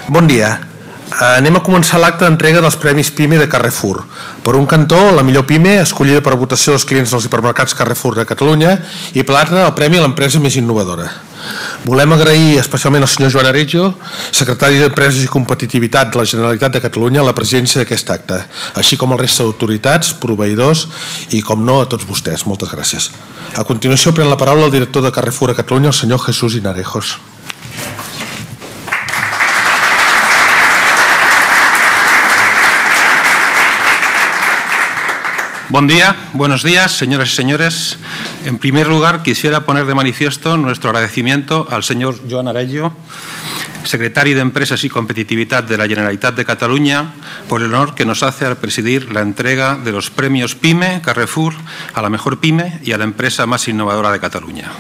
Bon dia. Anem a començar l'acte d'entrega dels Premis PIME de Carrefour. Per un cantó, la millor PIME, escollida per votació dels clients dels hipermercats Carrefour de Catalunya, i per l'altre, el Premi a l'empresa més innovadora. Volem agrair especialment al senyor Joan Aregio, secretari d'Empreses i Competitivitat de la Generalitat de Catalunya, la presència d'aquest acte, així com a la resta d'autoritats, proveïdors i, com no, a tots vostès. Moltes gràcies. A continuació, pren la paraula el director de Carrefour a Catalunya, el senyor Jesús Hinarejos. Buen día, buenos días, señoras y señores. En primer lugar, quisiera poner de manifiesto nuestro agradecimiento al señor Joan Aregio, secretario de Empresas y Competitividad de la Generalitat de Cataluña, por el honor que nos hace al presidir la entrega de los premios PIME Carrefour a la mejor PIME y a la empresa más innovadora de Cataluña.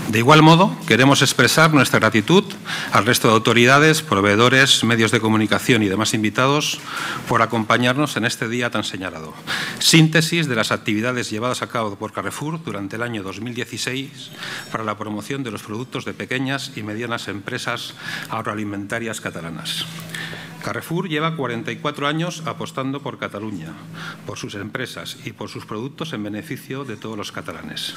De igual modo, queremos expresar nuestra gratitud al resto de autoridades, proveedores, medios de comunicación y demás invitados por acompañarnos en este día tan señalado. Síntesis de las actividades llevadas a cabo por Carrefour durante el año 2016 para la promoción de los productos de pequeñas y medianas empresas agroalimentarias catalanas. Carrefour lleva 44 años apostando por Cataluña, por sus empresas y por sus productos en beneficio de todos los catalanes.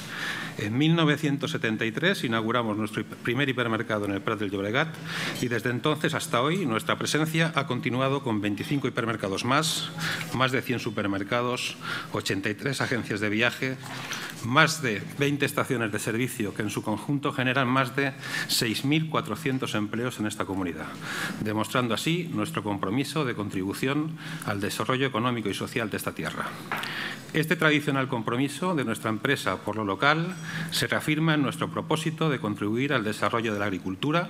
En 1973 inauguramos nuestro primer hipermercado en el Prat del Llobregat y desde entonces hasta hoy nuestra presencia ha continuado con 25 hipermercados más de 100 supermercados, 83 agencias de viaje, más de 20 estaciones de servicio que en su conjunto generan más de 6.400 empleos en esta comunidad, demostrando así nuestro compromiso de contribución al desarrollo económico y social de esta tierra. Este tradicional compromiso de nuestra empresa por lo local se reafirma en nuestro propósito de contribuir al desarrollo de la agricultura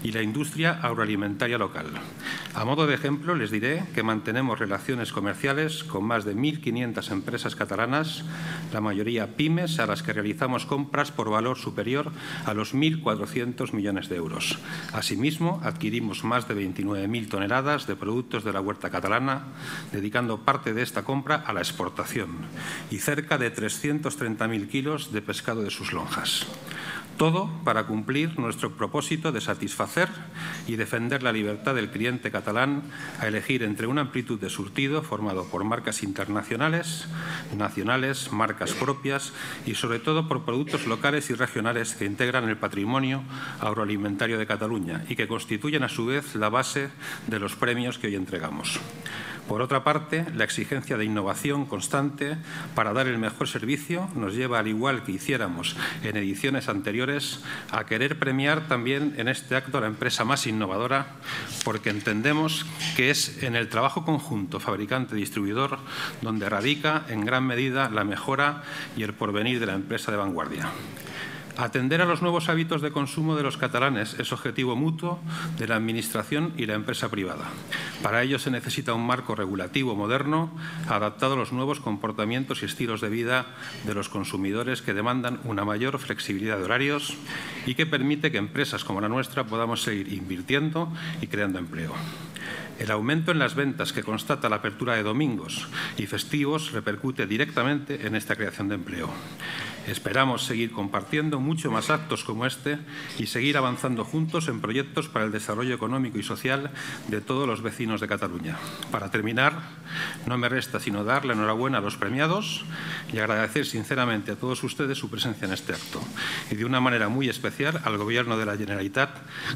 y la industria agroalimentaria local. A modo de ejemplo, les diré que mantenemos relaciones comerciales con más de 1.500 empresas catalanas, la mayoría pymes, a las que realizamos compras por valor superior a los 1.400 millones de euros. Asimismo, adquirimos más de 29.000 toneladas de productos de la huerta catalana, dedicando parte de esta compra a la exportación, y cerca de 330.000 kilos de pescado de sus lonjas. Todo para cumplir nuestro propósito de satisfacer y defender la libertad del cliente catalán a elegir entre una amplitud de surtido formado por marcas internacionales, nacionales, marcas propias y sobre todo por productos locales y regionales que integran el patrimonio agroalimentario de Cataluña y que constituyen a su vez la base de los premios que hoy entregamos. Por otra parte, la exigencia de innovación constante para dar el mejor servicio nos lleva, al igual que hiciéramos en ediciones anteriores, a querer premiar también en este acto a la empresa más innovadora, porque entendemos que es en el trabajo conjunto fabricante-distribuidor donde radica en gran medida la mejora y el porvenir de la empresa de vanguardia. Atender a los nuevos hábitos de consumo de los catalanes es objetivo mutuo de la Administración y la empresa privada. Para ello se necesita un marco regulativo moderno adaptado a los nuevos comportamientos y estilos de vida de los consumidores que demandan una mayor flexibilidad de horarios y que permite que empresas como la nuestra podamos seguir invirtiendo y creando empleo. El aumento en las ventas que constata la apertura de domingos y festivos repercute directamente en esta creación de empleo. Esperamos seguir compartiendo mucho más actos como este y seguir avanzando juntos en proyectos para el desarrollo económico y social de todos los vecinos de Cataluña. Para terminar, no me resta sino dar la enhorabuena a los premiados y agradecer sinceramente a todos ustedes su presencia en este acto y de una manera muy especial al Gobierno de la Generalitat.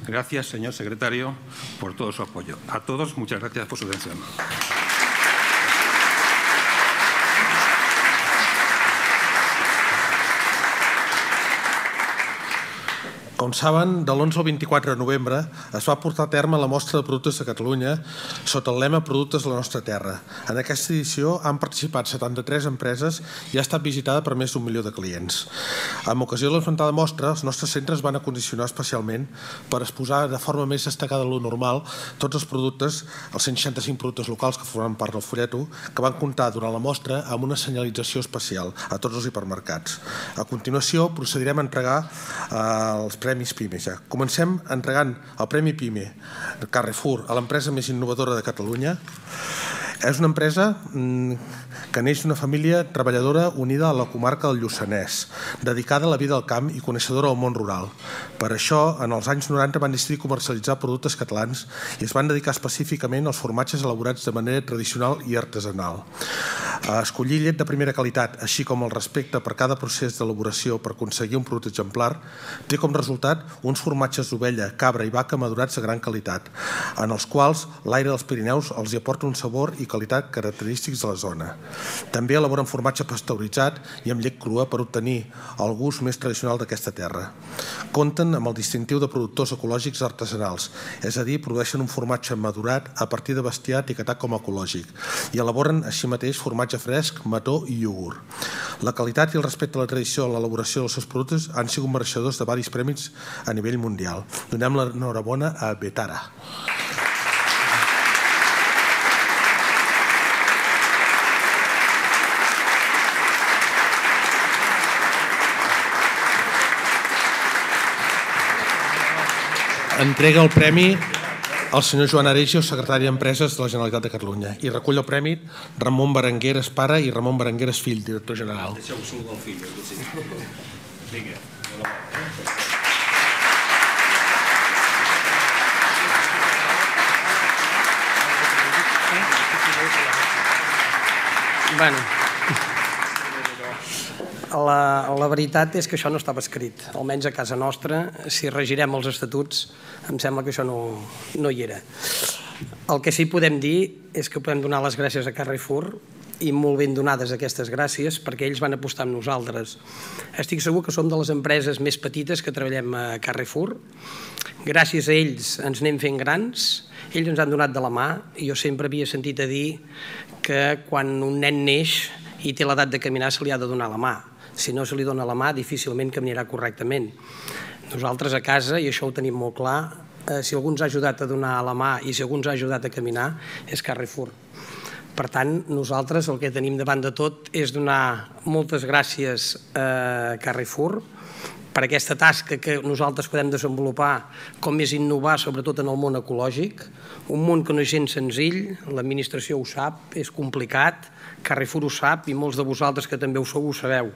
Gracias, señor secretario, por todo su apoyo. A todos, muchas gracias por su atención. Com saben, de l'11 al 24 de novembre es va portar a terme la mostra de productes de Catalunya sota el lema Productes de la nostra terra. En aquesta edició han participat 73 empreses i ha estat visitada per més d'1 milió de clients. Amb ocasió de l'esmentada mostra, els nostres centres van acondicionar especialment per exposar de forma més destacada de lo normal tots els productes, els 165 productes locals que formen part del folleto, que van comptar durant la mostra amb una senyalització especial a tots els hipermercats. A continuació, procedirem a entregar els Premis PIME. Comencem entregant el Premi PIME Carrefour a l'empresa més innovadora de Catalunya És una empresa que neix d'una família treballadora unida a la comarca del Lluçanès, dedicada a la vida al camp i coneixedora del món rural. Per això, en els anys 90 van decidir comercialitzar productes catalans i es van dedicar específicament als formatges elaborats de manera tradicional i artesanal. Escollir llet de primera qualitat, així com el respecte per cada procés d'elaboració per aconseguir un producte exemplar, té com resultat uns formatges d'ovella, cabra i vaca madurats de gran qualitat, en els quals l'aire dels Pirineus els hi aporta un sabor i qualitat característics de la zona. També elaboren formatge pasteuritzat i amb llet crua per obtenir el gust més tradicional d'aquesta terra. Compten amb el distintiu de productors ecològics artesanals, és a dir, produeixen un formatge madurat a partir de bestiar etiquetat com a ecològic i elaboren així mateix formatge fresc, mató i iogurt. La qualitat i el respecte a la tradició en l'elaboració dels seus productes han sigut mereixedors de diversos premis a nivell mundial. Donem l'enhorabona a Betara. Entrega el premi al senyor Joan Aregio, secretari d'Empreses de la Generalitat de Catalunya. I recull el premi Ramon Berengueres, pare, i Ramon Berengueres, fill, director general. Deixeu-ho saludar el fill. Vinga. Bueno, la veritat és que això no estava escrit, almenys a casa nostra. Si regirem els estatuts, em sembla que això no hi era. El que sí podem dir és que podem donar les gràcies a Carrefour, i molt ben donades aquestes gràcies, perquè ells van apostar amb nosaltres. Estic segur que som de les empreses més petites que treballem a Carrefour. Gràcies a ells ens anem fent grans, ells ens han donat de la mà, i jo sempre havia sentit a dir que quan un nen neix i té l'edat de caminar se li ha de donar la mà. Si no se li dona la mà, difícilment caminarà correctament. Nosaltres a casa, i això ho tenim molt clar, si algú ens ha ajudat a donar la mà i si algú ens ha ajudat a caminar, és Carrefour. Per tant, nosaltres el que tenim davant de tot és donar moltes gràcies a Carrefour per aquesta tasca que nosaltres podem desenvolupar, com és innovar, sobretot en el món ecològic, un món que no és gens senzill, l'administració ho sap, és complicat, Carrefour ho sap i molts de vosaltres que també ho sou ho sabeu.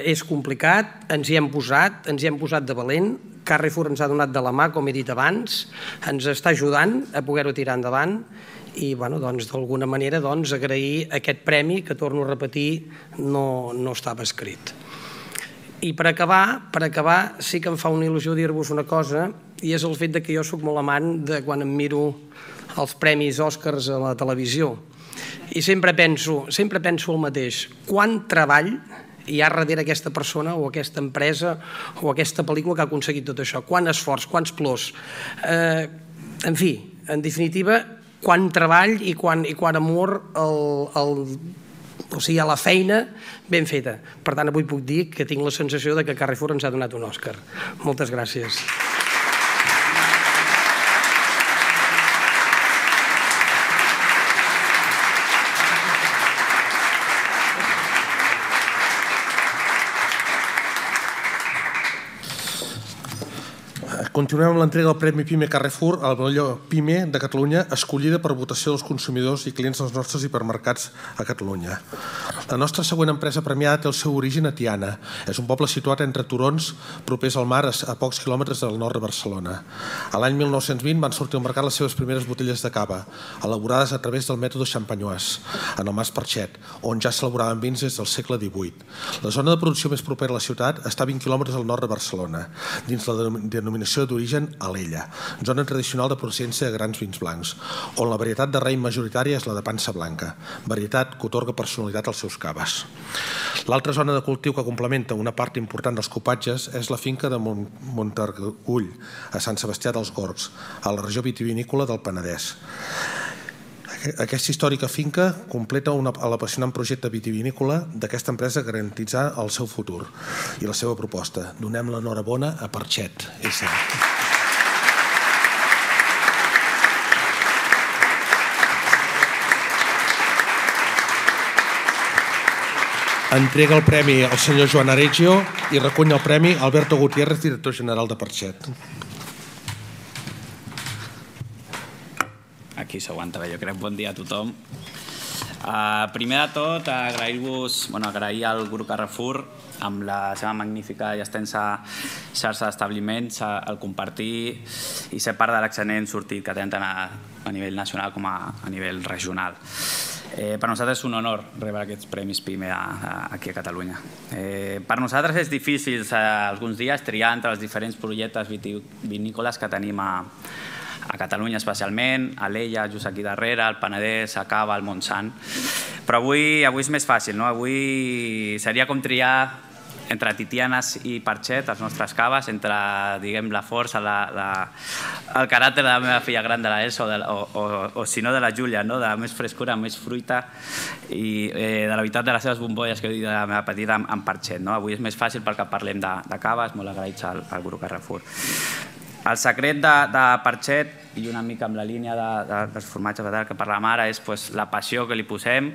És complicat, ens hi hem posat de valent, Carrefour ens ha donat de la mà, com he dit abans, ens està ajudant a poder-ho tirar endavant i d'alguna manera agrair aquest premi que, torno a repetir, no estava escrit. I per acabar, sí que em fa una il·lusió dir-vos una cosa, i és el fet que jo soc molt amant de quan em miro els premis Oscars a la televisió. I sempre penso el mateix. Quant treball hi ha darrere aquesta persona o aquesta empresa o aquesta pel·lícula que ha aconseguit tot això? Quant esforç, quants plors. En fi, en definitiva, quant treball i quant amor a la feina ben feta. Per tant, avui puc dir que tinc la sensació que Carrefour ens ha donat un Òscar. Moltes gràcies. Continuem amb l'entrega del Premi PIME Carrefour a la millor PIME de Catalunya, escollida per votació dels consumidors i clients dels nostres hipermercats a Catalunya. La nostra següent empresa premiada té el seu origen a Tiana. És un poble situat entre turons propers al mar a pocs quilòmetres del nord de Barcelona. A l'any 1920 van sortir al mercat les seves primeres botelles de cava, elaborades a través del mètode champenois, en el Mas Parxet, on ja s'elaboraven vins des del segle XVIII. La zona de producció més propera a la ciutat està a 20 quilòmetres al nord de Barcelona, dins la denominació d'origen Alella, zona tradicional de procedència de grans vins blancs, on la varietat de raïm majoritària és la de pansa blanca, varietat que atorga personalitat als seus caves. L'altra zona de cultiu que complementa una part important dels copatges és la finca de Montargull, a Sant Sebastià dels Gorgs, a la regió vitivinícola del Penedès. Aquesta històrica finca completa l'apassionant projecte vitivinícola d'aquesta empresa garantitzar el seu futur i la seva proposta. Donem l'enhorabona a Parxet. Entrega el premi al senyor Joan Aregio i recull el premi Alberto Gutiérrez, director general de Parxet. aquí s'aguanta bé, jo crec. Bon dia a tothom. Primer de tot, agrair al grup Carrefour amb la seva magnífica i extensa xarxa d'establiments el compartir i ser part de l'excel·lent sortit que tenen tant a nivell nacional com a nivell regional. Per nosaltres és un honor rebre aquests premis PIME aquí a Catalunya. Per nosaltres és difícil alguns dies triar entre els diferents projectes vinícoles que tenim a Catalunya especialment, a l'Ella, just aquí darrere, al Penedès, a Cava, al Montsant. Però avui és més fàcil, no? Avui seria com triar entre Titianes i Parxet, les nostres caves, entre, diguem, la força, el caràcter de la meva filla gran de l'Elsa o si no de la Júlia, de més frescura, més fruita i de la veritat de les seves bombolles que he dit de la meva petita amb Parxet. Avui és més fàcil perquè parlem de caves, molt agraïts al grup Carrefour. El secret de Parxet, i una mica amb la línia dels formatges que parlàvem ara, és la passió que li posem,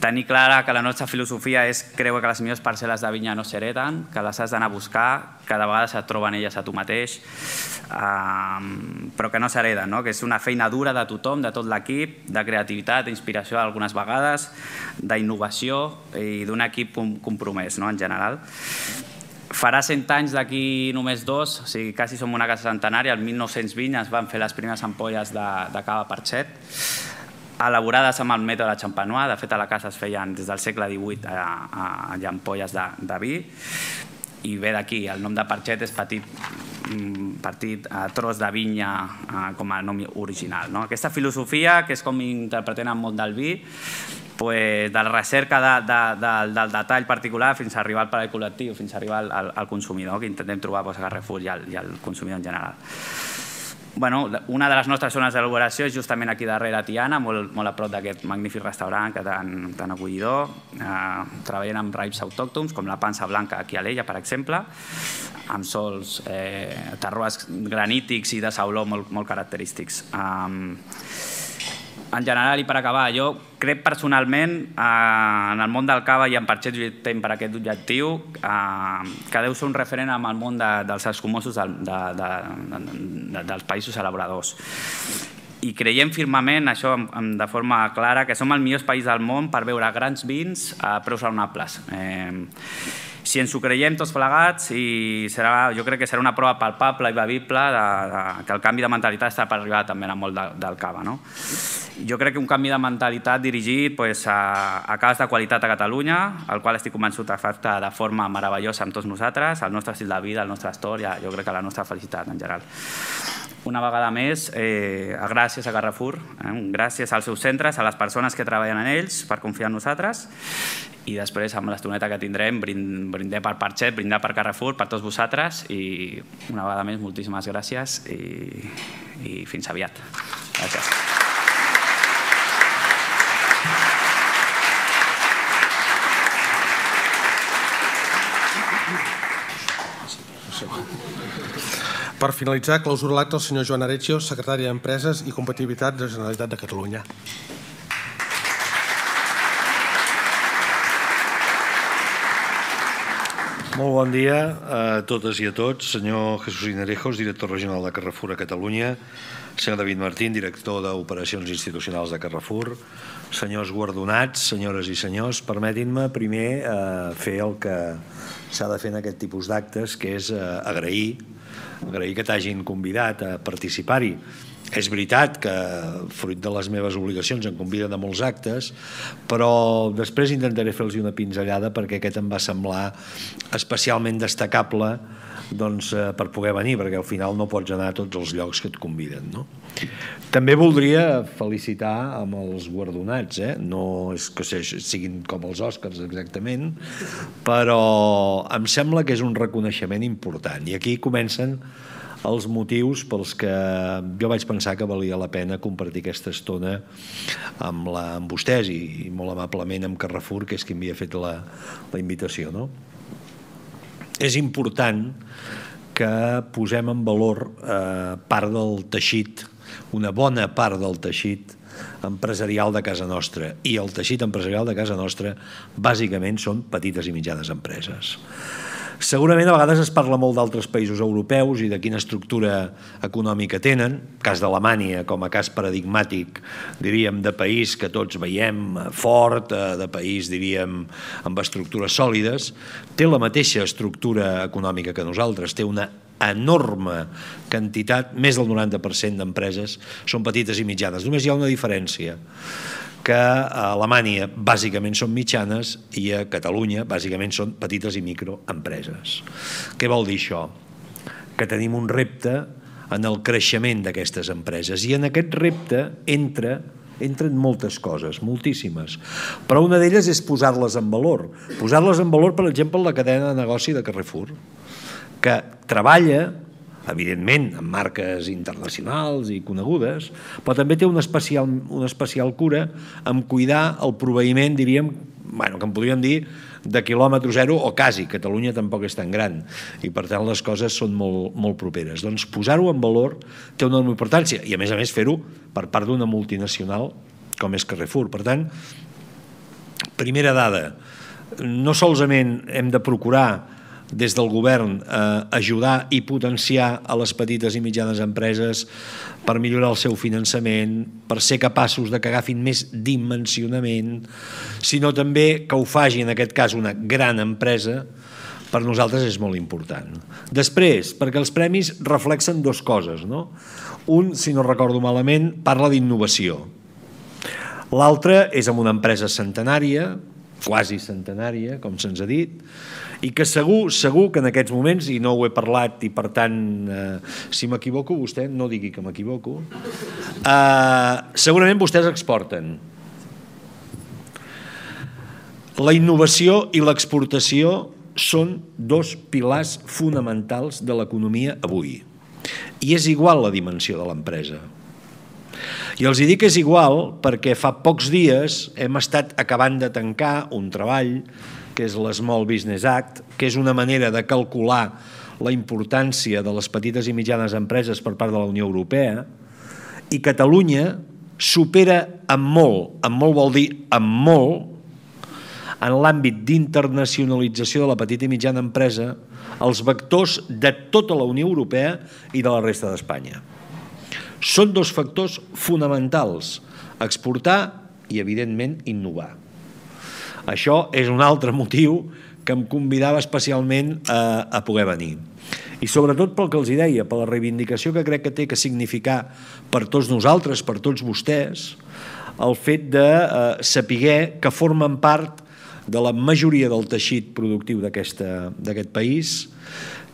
tenir clara que la nostra filosofia és creure que les millors parcel·les de vinya no s'hereten, que les has d'anar a buscar, que de vegades et troben elles a tu mateix, però que no s'hereden, que és una feina dura de tothom, de tot l'equip, de creativitat, d'inspiració algunes vegades, d'innovació i d'un equip compromès en general. Farà 100 anys d'aquí només 2, o sigui, quasi som una casa centenària. El 1920 es van fer les primeres ampolles de cava Parxet, elaborades amb el mètode Champenois. De fet, a la casa es feien des del segle XVIII ampolles de vi. I ve d'aquí, el nom de Parxet és petit tros de vinya com a nom original. Aquesta filosofia, que és com interpretem el món del vi, de la recerca del detall particular fins a arribar al paladar col·lectiu, fins a arribar al consumidor, que intentem trobar a Carrefour i al consumidor en general. Una de les nostres zones d'elaboració és justament aquí darrere a Tiana, molt a prop d'aquest magnífic restaurant tan acollidor. Treballen amb raïms autòctons, com la pansa blanca aquí a l'Ella, per exemple, amb sols, terroirs granítics i de sauló molt característics. En general, i per acabar, jo crec personalment en el món del cava i en Parxet lluitem per aquest objectiu, que deu ser un referent en el món dels escumosos dels països elaboradors. I creiem firmament, això de forma clara, que som el millor país del món per beure grans vins a preus raonables. Si ens ho creiem tots plegats, jo crec que serà una prova palpable i bevible que el canvi de mentalitat està per arribar també en el món del cava. Jo crec que un canvi de mentalitat dirigit a caves de qualitat a Catalunya, el qual estic convençut que afecta de forma meravellosa amb tots nosaltres, el nostre estil de vida, el nostre història, jo crec que la nostra felicitat en general. Una vegada més, gràcies a Carrefour, gràcies als seus centres, a les persones que treballen en ells per confiar en nosaltres, i després, amb l'estoneta que tindrem, brindar per Parxet, brindar per Carrefour, per tots vosaltres, i una vegada més, moltíssimes gràcies i fins aviat. Gràcies. Per finalitzar, clausura l'acte el senyor Joan Areccio, secretari d'Empreses i Competitivitat de la Generalitat de Catalunya. Molt bon dia a totes i a tots. Senyor Jesús Inarejos, director regional de Carrefour a Catalunya. Senyor David Martín, director d'Operacions Institucionals de Carrefour. Senyors guardonats, senyores i senyors, permetin-me primer fer el que s'ha de fer en aquest tipus d'actes, que és agrair que t'hagin convidat a participar-hi. És veritat que, fruit de les meves obligacions, em conviden a molts actes, però després intentaré fer-los una pinzellada perquè aquest em va semblar especialment destacable per poder venir, perquè al final no pots anar a tots els llocs que et conviden. També voldria felicitar amb els guardonats, no és que siguin com els Oscars exactament, però em sembla que és un reconeixement important. I aquí comencen els motius pels que jo vaig pensar que valia la pena compartir aquesta estona amb vostès i molt amablement amb Carrefour, que és qui m'havia fet la invitació. És important que posem en valor part del teixit, una bona part del teixit empresarial de casa nostra. I el teixit empresarial de casa nostra bàsicament són petites i mitjanes empreses. Segurament a vegades es parla molt d'altres països europeus i de quina estructura econòmica tenen, cas d'Alemanya com a cas paradigmàtic, diríem, de país que tots veiem fort, de país, diríem, amb estructures sòlides, té la mateixa estructura econòmica que nosaltres, té una enorme quantitat, més del 90% d'empreses són petites i mitjanes. Només hi ha una diferència, que a Alemanya bàsicament són mitjanes i a Catalunya bàsicament són petites i microempreses. Què vol dir això? Que tenim un repte en el creixement d'aquestes empreses i en aquest repte entren moltes coses, moltíssimes, però una d'elles és posar-les en valor. Posar-les en valor, per exemple, en la cadena de negoci de Carrefour, que treballa, evidentment, amb marques internacionals i conegudes, però també té una especial cura en cuidar el proveïment, diríem, que en podríem dir, de quilòmetre zero o quasi. Catalunya tampoc és tan gran i, per tant, les coses són molt properes. Doncs posar-ho en valor té una enorme importància i, a més, fer-ho per part d'una multinacional com és Carrefour. Per tant, primera dada, no solament hem de procurar des del govern ajudar i potenciar a les petites i mitjanes empreses per millorar el seu finançament, per ser capaços de que agafin més dimensionament, sinó també que ho faci, en aquest cas, una gran empresa, per nosaltres és molt important. Després, perquè els premis reflexen dues coses, no? Un, si no recordo malament, parla d'innovació. L'altre és amb una empresa centenària, quasi centenària, com se'ns ha dit, i que segur que en aquests moments, i no ho he parlat i per tant, si m'equivoco, vostè no digui que m'equivoco, segurament vostès exporten. La innovació i l'exportació són dos pilars fonamentals de l'economia avui. I és igual la dimensió de l'empresa. I els dic que és igual perquè fa pocs dies hem estat acabant de tancar un treball que és l'Small Business Act, que és una manera de calcular la importància de les petites i mitjanes empreses per part de la Unió Europea, i Catalunya supera amb molt vol dir amb molt, en l'àmbit d'internacionalització de la petita i mitjana empresa, els vectors de tota la Unió Europea i de la resta d'Espanya. Són dos factors fonamentals, exportar i, evidentment, innovar. Això és un altre motiu que em convidava especialment a poder venir. I sobretot pel que els deia, per la reivindicació que crec que té que significar per tots nosaltres, per tots vostès, el fet de saber que formen part de la majoria del teixit productiu d'aquest país,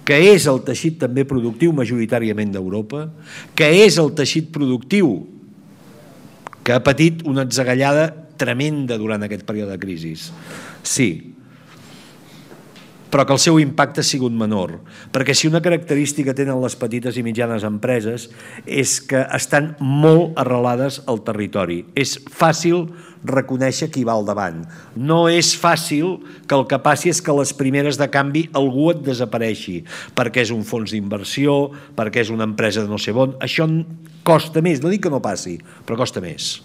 que és el teixit també productiu majoritàriament d'Europa, que és el teixit productiu que ha patit una atzagallada tremenda durant aquest període de crisi. Sí, però que el seu impacte ha sigut menor, perquè si una característica tenen les petites i mitjanes empreses és que estan molt arrelades al territori. És fàcil reconèixer qui va al davant. No és fàcil que el que passi és que les primeres de canvi algú et desapareixi, perquè és un fons d'inversió, perquè és una empresa de no sé on. Això costa més, no dic que no passi, però costa més.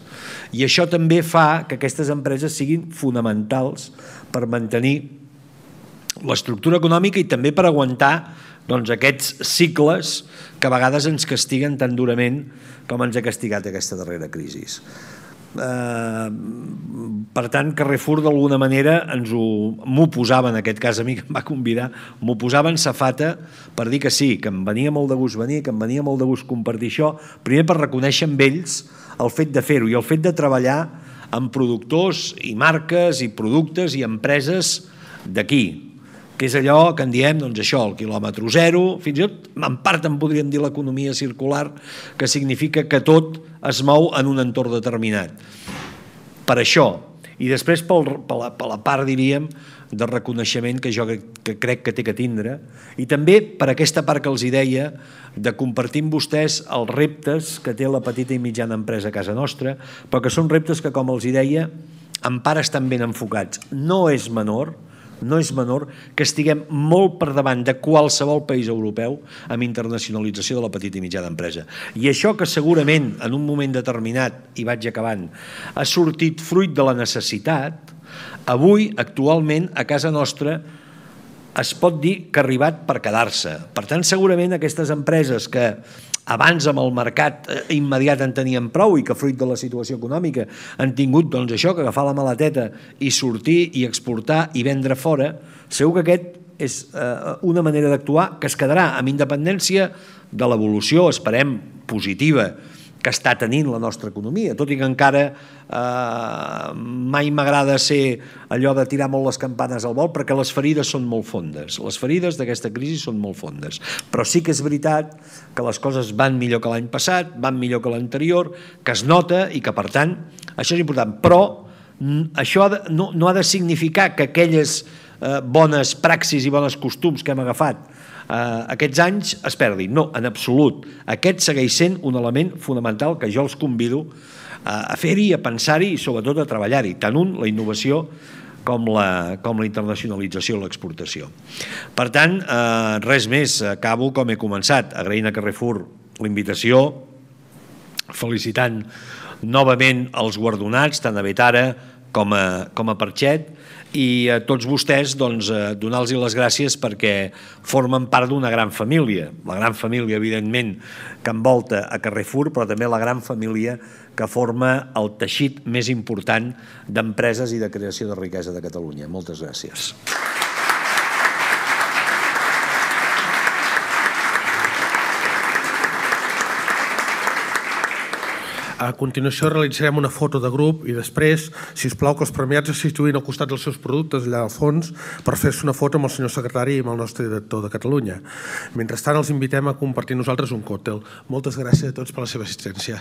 I això també fa que aquestes empreses siguin fonamentals per mantenir l'estructura econòmica i també per aguantar aquests cicles que a vegades ens castiguen tan durament com ens ha castigat aquesta darrera crisi. Per tant, Carrefour d'alguna manera m'ho posava, en aquest cas a mi que em va convidar, m'ho posava en safata per dir que sí, que em venia molt de gust venir, que em venia molt de gust compartir això, primer per reconèixer amb ells el fet de fer-ho i el fet de treballar amb productors i marques i productes i empreses d'aquí, que és allò que en diem, doncs això, el quilòmetre zero, fins i tot en part en podríem dir l'economia circular, que significa que tot es mou en un entorn determinat. Per això, i després per la part, diríem, de reconeixement que jo crec que té que tindre, i també per aquesta part que els deia, de compartir amb vostès els reptes que té la petita i mitjana empresa a casa nostra, però que són reptes que, com els deia, en part estan ben enfocats. No és menor que estiguem molt per davant de qualsevol país europeu amb internacionalització de la petita i mitjana empresa. I això que segurament en un moment determinat, i vaig acabant, ha sortit fruit de la necessitat, avui, actualment, a casa nostra, es pot dir que ha arribat per quedar-se. Per tant, segurament aquestes empreses que abans amb el mercat immediat en tenien prou i que fruit de la situació econòmica han tingut això, que agafar la maleteta i sortir i exportar i vendre fora, segur que aquest és una manera d'actuar que es quedarà amb independència de l'evolució, esperem, positiva, que està tenint la nostra economia, tot i que encara mai m'agrada ser allò de tirar molt les campanes al vol, perquè les ferides són molt fondes. Les ferides d'aquesta crisi són molt fondes. Però sí que és veritat que les coses van millor que l'any passat, van millor que l'anterior, que es nota i que, per tant, això és important. Però això no ha de significar que aquelles bones praxis i bons costums que hem agafat aquests anys es perdin. No, en absolut. Aquest segueix sent un element fonamental que jo els convido a fer-hi, a pensar-hi i sobretot a treballar-hi, tant la innovació com la internacionalització i l'exportació. Per tant, res més, acabo com he començat, agraint a Carrefour l'invitació, felicitant novament els guardonats, tant a Betara com a Perxet, i a tots vostès donar-los les gràcies perquè formen part d'una gran família. La gran família, evidentment, que envolta a Carrefour, però també la gran família que forma el teixit més important d'empreses i de creació de riquesa de Catalunya. Moltes gràcies. A continuació realitzarem una foto de grup i després, si us plau, que els premiats es situïn al costat dels seus productes, allà al fons, per fer-se una foto amb el senyor secretari i amb el nostre director de Catalunya. Mentrestant, els invitem a compartir nosaltres un còctel. Moltes gràcies a tots per la seva assistència.